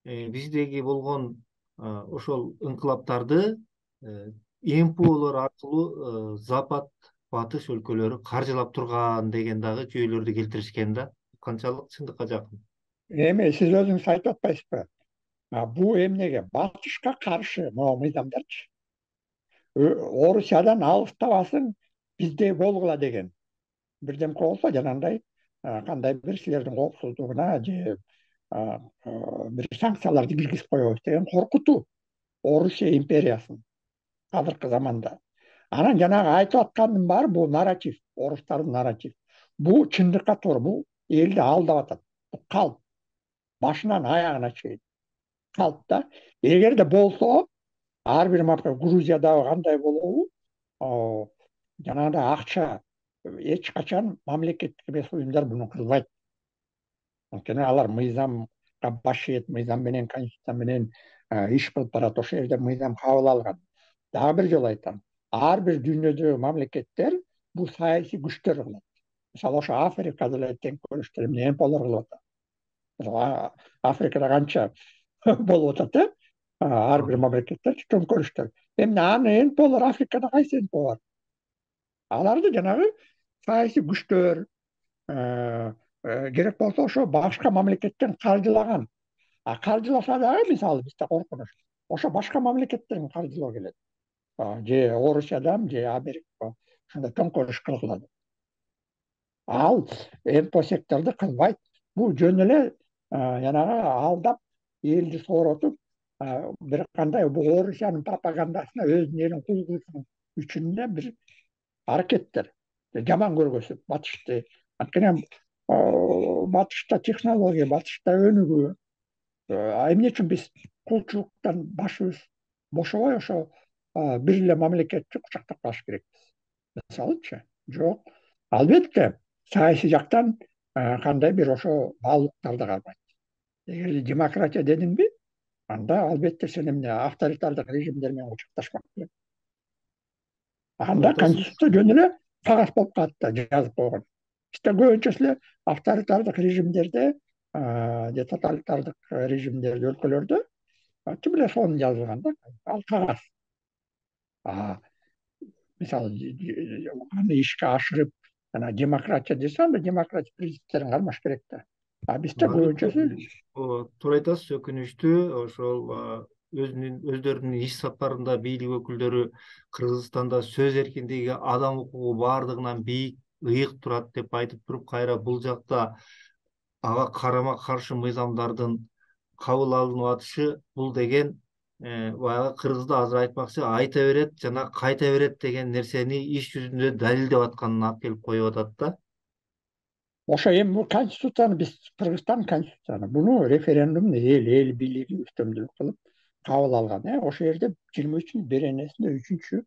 биздеги болгон ошол инкылаптарды НПОлор аркылуу Запад, батыш өлкөлөрү каржылап турган деген дагы жүйөлөрдү келтиришкен да. Канчалык чындыкка жакын? Эми сиз өзүңүз айтып атпайсызбы? Бул эмнеге батышка каршы могу мыйзамдарчы? Орусиядан алыстабасын, бизде болгула деген бирдемке болсо, жанагындай кандай бир силердин коопсуздугуна же бир санкцияларды киргизип коебуз деген коркутуу Орусия империясын азыркы заманда. Анан жанагы айтып аткандын баары бул нарратив, орустардын нарратив. Бул чындыкка туура, бул элди алдап атат. Калп, башынан аягына чейин калп да. Эгерде болсо, ар бир Грузиядагы кандай болобу, жанагындай акча эч качан мамлекеттик эмес уюмдар буну кылбайт. Анткени алар мыйзамга баш ийет, мыйзам менен, конституция менен иш кылып барат. Ошол жерде мыйзам кабыл алган. Дагы бир жолу айтам, ар бир дүйнөдөгү мамлекеттер бул саясий күчтөр кылат. Мисалы, ошо Африкада эле тең көрүштөр эмне НПОлор кылып атат. Мисалы, Африкада канча болуп атат, ар бир мамлекеттер төңкөрүштөр. Эмне аны НПОлор Африкада кайсы НПО бар? Аларды жанагы саясий күчтөр, керек болсо ошо башка мамлекеттен каржылаган. Каржыласа дагы, мисалы, бизде коркунуч, ошо башка мамлекеттерден каржылоо келет. Же Орусиядан, же Америка, ошондой төңкөрүш кылгылат. Ал НПО секторду кылбайт. Бул жөн эле жанагы алдап, элди сооротуп, бир кандай бул Орусиянын пропагандасына өзүнүн элин куйгузуу үчүн да бир аракеттер. Жаман көргөзүп батышты. Анткени батышта технология, батышта өнүгүү. Эмне үчүн биз кулчулуктан башыбыз бошобой ошо бир эле мамлекетти кучактап калыш керекпиз? Мисалычы, жок. Албетте, саясий жактан кандай бир ошо баалуулуктарды кармайт. Эгер демократия дедиңби, анда албетте сен эмне авторитардык режимдер менен кучакташмак керек. Анда конституция жөн эле кагаз болуп калат да, жазып койгон. Бизде көбүнчөсү эле авторитардык режимдерде же тоталитардык режимдерде, өлкөлөрдө тим эле сонун жазылган да. ал кагаз. Мисалы аны ишке ашырып жана демократия десе, анда демократия принциптерин кармаш керек да. А бизде көбүнчөсү Туура айтасыз, өкүнүчтүү ошол өздөрүнүн иш сапарында бийлик өкүлдөрү Кыргызстанда сөз эркиндиги, адам укугу баардыгынан бийик, ыйык турат деп айтып туруп, кайра бул жакта ага карама каршы мыйзамдардын кабыл алынып атышы, бул деген баягы кыргызда азыр айтмакчы айта берет жана кайта берет деген нерсени иш жүзүндө далилдеп атканын алып келип коюп атат да. ошо эми бул конституцияны биз Кыргызстан конституцияны буну референдум эл бийлиги үстөмдүк кылып кабыл алган. Ошол жерде 23 беренесинде 3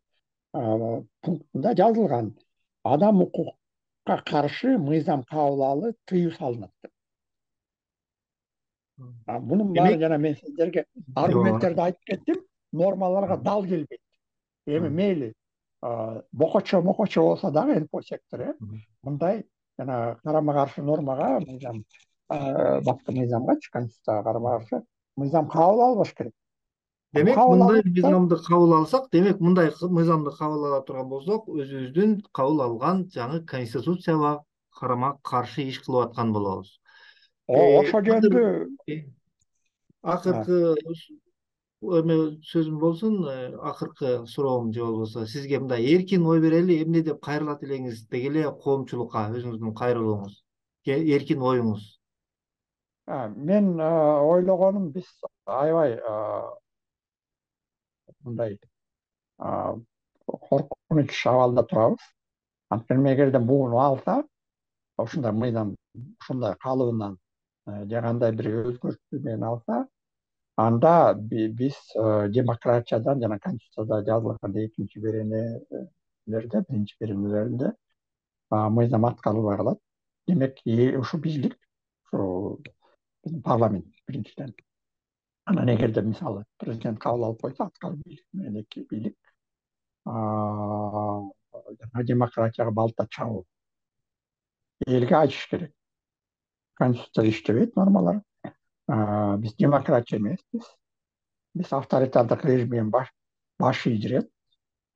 пунктунда жазылган: адам укукка каршы мыйзам кабыл алуу тыюу салынат деп. Бунун баары Демек, жана мен сиздерге аргументтерди айтып кеттим, нормаларга дал келбейт. Эми мейли бокочо болсо дагы НПО сектор мындай жана карама каршы нормага, мыйзам бапкы мыйзамгачы, конституцияга карама каршы мыйзам кабыл албаш керек. Бул демек кабыл мындай алынса, мыйзамды кабыл алсак, демек мындай мыйзамды кабыл ала турган болсок, өзүбүздүн кабыл алган жаңы конституцияга карама каршы иш кылып аткан болобуз. ошол Азыр жөнүндө акыркы эме сөзүм болсун, акыркы суроом же болбосо сизге мындай эркин ой берели, эмне деп кайрылат элеңиз деги эле коомчулукка өзүңүздүн кайрылууңуз, эркин оюңуз. мен ойлогонум, биз аябай мындай коркунуч абалда турабыз. Анткени эгерде буну алса, ушундай мыйзам ушундай калыбынан же кандай бир өзгөртүү менен алса, анда биз демократиядан жана конституцияда жазылган экинчи беренелерде, биринчи беренелеринде мыйзам аткарылбай калат. Демек, ушу бийлик, ушу парламент биринчиден. Анан эгерде мисалы президент кабыл алып койсо, аткаруу бийлик менен эки бийлик демократияга балта чабуу. Элге айтыш керек: конституция иштебейт, нормалар. Биз демократия эмеспиз. Биз авторитардык режим менен баш ийдирет.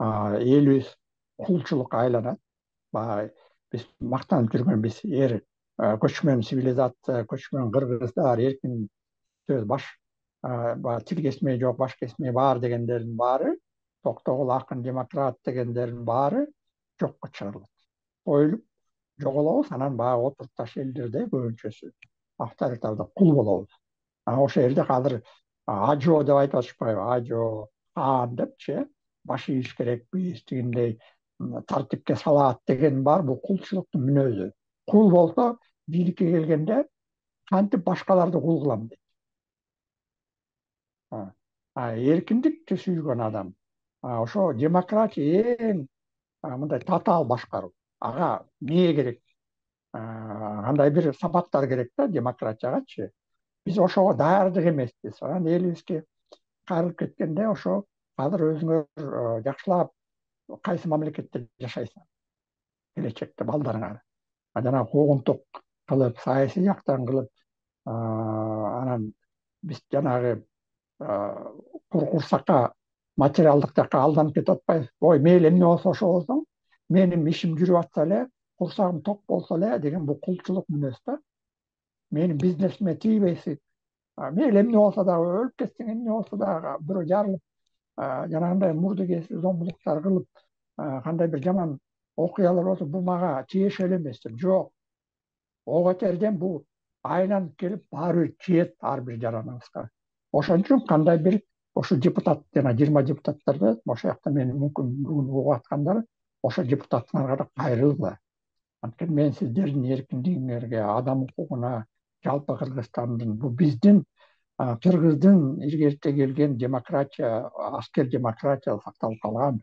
Элибиз кулчулукка айланат. Баягы биз мактанып жүргөн көчмөн цивилизация, көчмөн кыргыздар, эркин сөз, баягы тил кесмей жок, баш кесмей бар дегендердин баары, токтогул акын демократ дегендердин баары жокко чыгарылат. Коюлуп жоголобуз, анан баягы отурташ элдердей көбүнчөсү авторитардык кул болобуз. Ошол жерде азыр ажо деп айтып атышпайбы? Ажо, хаан депчи, баш ийиш керекпиз, тигиндей тартипке салат деген бар. Бул кулчулуктун мүнөзү. Кул болсо, бийликке келгенде кантип башкаларды кул кылам дейт. Эркиндикти сүйгөн адам, ошо демократия эң мындай татаал башкаруу. Ага эмне керек? Кандай бир сапаттар керек да демократиягачы. Биз ошого даярдык эмеспиз. Анан элибизге кайрылып кеткенде, ошо азыр өзүңөр жакшылап кайсы мамлекетте жашайсың келечекте балдарыңар. Жанагы куугунтук кылып, саясий жактан кылып, анан биз жанагы курсакка, материалдык жакка алданып кетип атпайбыз. Ой, мейли эмне болсо ошо болсун, менин ишим жүрүп атса эле, курсагым ток болсо эле деген бул кулчулук мүнөз да. Менин бизнесиме тийбейсиң. Мейли эмне болсо дагы, өлүп кетсең, эмне болсо дагы, бирөө жарылып, жанагындай мурду кесип, зомбулуктар кылып, кандай бир жаман окуялар болсо, бул мага тиешелүү эмес деп. Жок. Ого терден бул айланып келип баары бир тиет ар бир жараныбызга. Ошон үчүн кандай бир ошо депутат, жана 20 депутаттарды, ошол жакта мени мүмкүн бүгүн угуп аткандар, ошо депутаттарга да кайрылгыла. Анткени мен сиздердин эркиндигиңерге, адам укугуна, жалпы Кыргызстандын, бул биздин кыргыздын илгерте келген демократия, аскер демократия сакталып калган,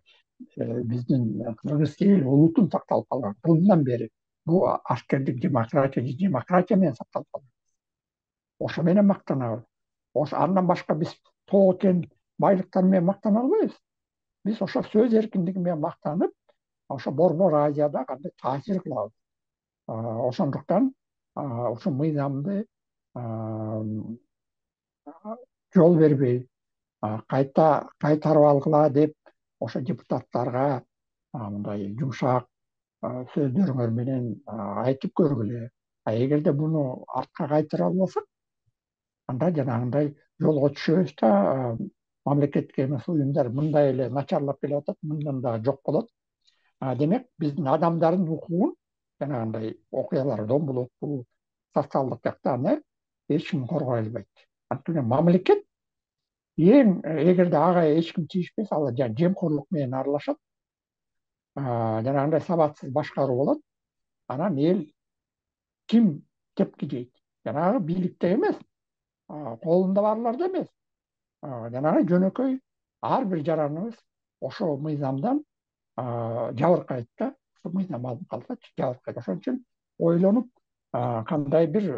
биздин кыргыз эл улутун сакталып калган кылымдан бери бул аскердик демократия менен сакталып калган. Ошо менен мактанабыз. Андан башка биз тоо кен байлыктар менен мактана албайбыз. Биз ошо сөз эркиндиги менен мактанып, ошо Борбор Азияда кандай таасир кылабыз. Ошондуктан ушул мыйзамды жол бербей, кайтарып алгыла деп ошо депутаттарга мындай жумшак сөздөрүңөр менен айтып көргүлө. Эгерде буну артка кайтара албасак, анда жанагындай жолго түшөбүз да мамлекеттик эмес уюмдар мындай эле начарлап келатат, мындан дагы жок болот. Демек биздин адамдардын укугун жанагындай окуялардан болот, бул социалдык жактан эч ким коргой албайт. Анткени мамлекет эгерде ага эч ким тийишпесе, ал жемкорлук менен аралашат, жанагындай сабатсыз башкаруу болот. Анан эл ким кепки жейт? Жанагы бийликте эмес, колунда барларда эмес. Жанагы жөнөкөй ар бир жараныбыз ошо мыйзамдан жабыркайт да. Ошо мыйзам алып калсачы жабыркайт. Ошон үчүн ойлонуп кандай бир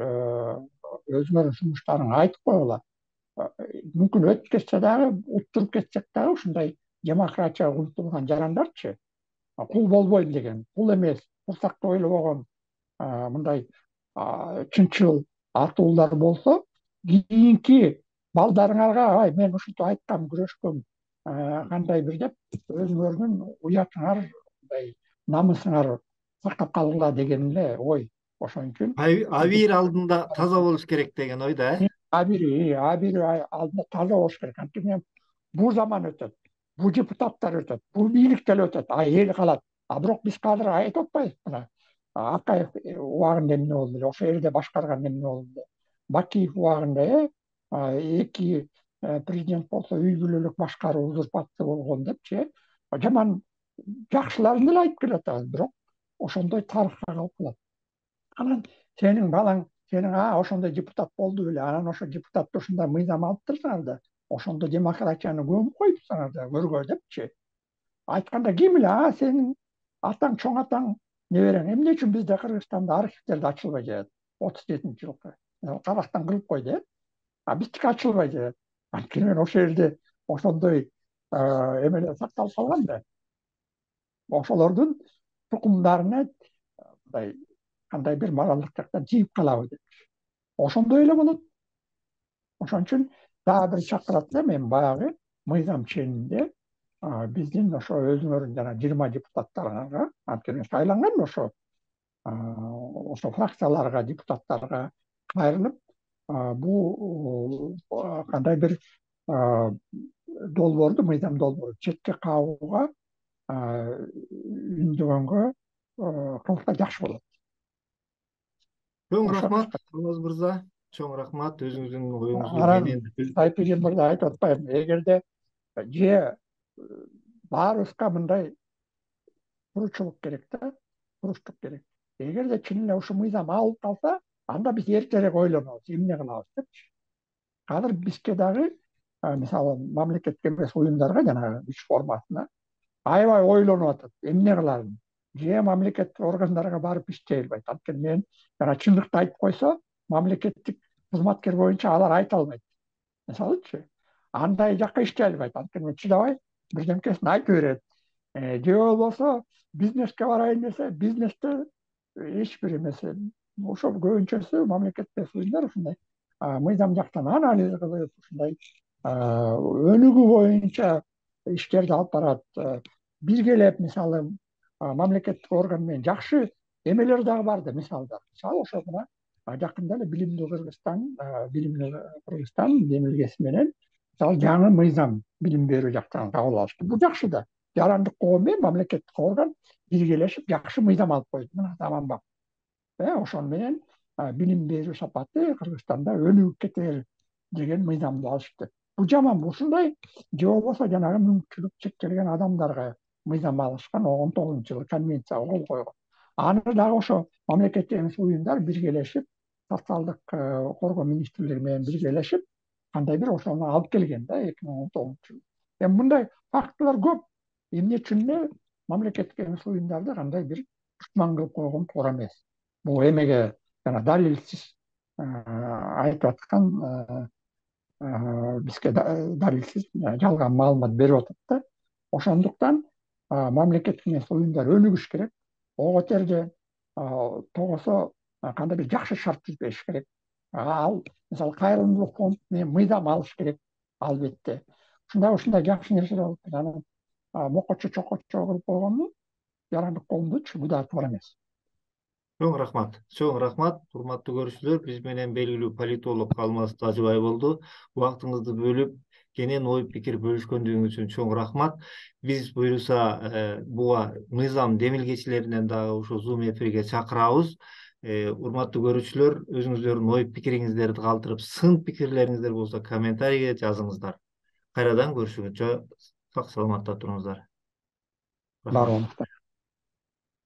өзүңөрдүн сунуштарыңды айтып койгула. Мүмкүн өтүп кетсе дагы, уттуруп кетсек дагы ушундай демократияга умтулган жарандарчы, кул болбойм деген, кул эмес, курсакты ойлобогон мындай чынчыл атуулар болсо, кийинки балдарыңарга ай мен ушинтип айткам, күрөшкөм, кандай бир деп өзүңөрдүн уятыңар, мындай намысыңар сактап калгыла деген эле ой. Ошон үчүн Абийир алдында таза болуш керек деген ойда, абийир алдында таза болуш керек. Анткени бул заман өтөт, бул депутаттар өтөт, бул бийлик деле өтөт, эл калат. Бирок биз азыр айтып атпайбызбы, мына Акаев убагында эмне болду эле, ошол жерде башкарганда эмне болду эле, Бакиев убагында эки президент болсо үй бүлөлүк башкаруу узурпация болгон депчи, жаман жакшыларын деле айтып келатабыз, бирок ошондой тарыхка калып калат. Анан сенин балаң, сенин ошондой депутат болду беле, анан ошо депутатты ушундай мыйзам алып турсаңар да, ошондо демократияны көмүп коюпсуңар да көргө депчи айтканда, ким эле сенин атаң, чоң атаң, неберең эмне үчүн бизде Кыргызстанда архивдерди ачылбай жатат? 37-жылкы Казакстан кырылып койду, биздики ачылбай жатат. Анткени ошол жерде ошондой эмелер сакталып калган да. Ошолордун тукумдарына мындай кандай бир моралдык жактан тийип калабы деп. Ошондой эле болот. Ошон үчүн дагы бир чакырат да, мен баягы мыйзам ченинде биздин ошо өзүңөрдүн жана 20 депутаттарга, анткени шайланган ошо фракцияларга, депутаттарга кайрылып, бул кандай бир долбоорду, мыйзам долбоору четке кагууга үндөгөнгө кылса жакшы болот. чоң Ошо рахмат Алмаз мырза, чоң рахмат өзүңүздүн оюңузду анан менен. Сайпиген мырза айтып атпаймынбы, эгерде баарыбызга мындай туруучулук керек да, туруштук керек. Эгерде чын эле ушул мыйзам алып калса, анда биз эртерээк ойлонобуз, эмне кылабыз депчи. Азыр бизге дагы мисалы мамлекеттик эмес уюмдарга жанагы иш формасына аябай ойлонуп атат, эмне кыларын. Мамлекеттик органдарга барып иштей албайт. Анткени мен жана чындыкты айтып койсо, мамлекеттик кызматкер боюнча алар айта албайт. Мисалычы, андай жакка иштей албайт. Анткени чыдабай бирдемкесин айтып берет. Же болбосо бизнеске барайын десе, бизнесте эч бир эмеси. Ошол көбүнчөсү мамлекеттик уюмдар ушундай мыйзам жактан анализ кылып, ушундай өнүгүү боюнча иштерди алып барат. Биргелеп, мисалы, мамлекеттик орган менен жакшы эмелер дагы бар да, мисалдар. Мисалы ошо мына жакында эле Билимдүү Кыргызстан демилгеси менен мисалы жаңы мыйзам билим берүү жактан кабыл алышты. Бул жакшы да. Жарандык коом менен мамлекеттик орган биргелешип жакшы мыйзам алып койду. Мына заманбап. Ошон менен билим берүү сапаты Кыргызстанда өнүгүп кетер деген мыйзамды алышты. Бул жаманбы? Ушундай же болбосо жанагы мүмкүнчүлүк чектелген адамдарга мыйзам алышкан 19-жылы конвенцияга кол койгон. Аны дагы ошо мамлекеттик эмес уюмдар биргелешип, социалдык коргоо министрлиги менен биргелешип, кандай бир ошону алып келген да 2019-жылы. Эми мындай фактылар көп. Эмне үчүн эле мамлекеттик эмес уюмдарды кандай бир душман кылып койгон туура эмес. Бул эмеге жана далилсиз айтып аткан, бизге далилсиз жалган маалымат берип атат да. Ошондуктан мамлекеттик эмес уюмдар өнүгүш керек. Ого терде тогосо кандай бир жакшы шарт түзбеш керек. Ал мисалы кайрымдуулук фонд менен мыйзам алыш керек албетте. ушундай жакшы нерселер болуп анан мокочо чокочо кылып койгону жарандык коомдочу бул да туура эмес. Чоң рахмат, урматтуу көрүүчүлөр. Биз менен белгилүү политолог Алмаз Тажыбай болду. Убактыңызды бөлүп, кенен ой пикир бөлүшкөндүгүңүз үчүн чоң рахмат. Биз буюрса буга мыйзам демилгечилеринен дагы ушул Zoom эфирге чакырабыз. Урматтуу көрүүчүлөр, өзүңүздөрдүн ой пикириңиздерди калтырып, сын пикирлериңиздер болсо комментарийге жазыңыздар. Кайрадан көрүшүнчө сак саламатта туруңуздар. Баары Рахмат. онуктар.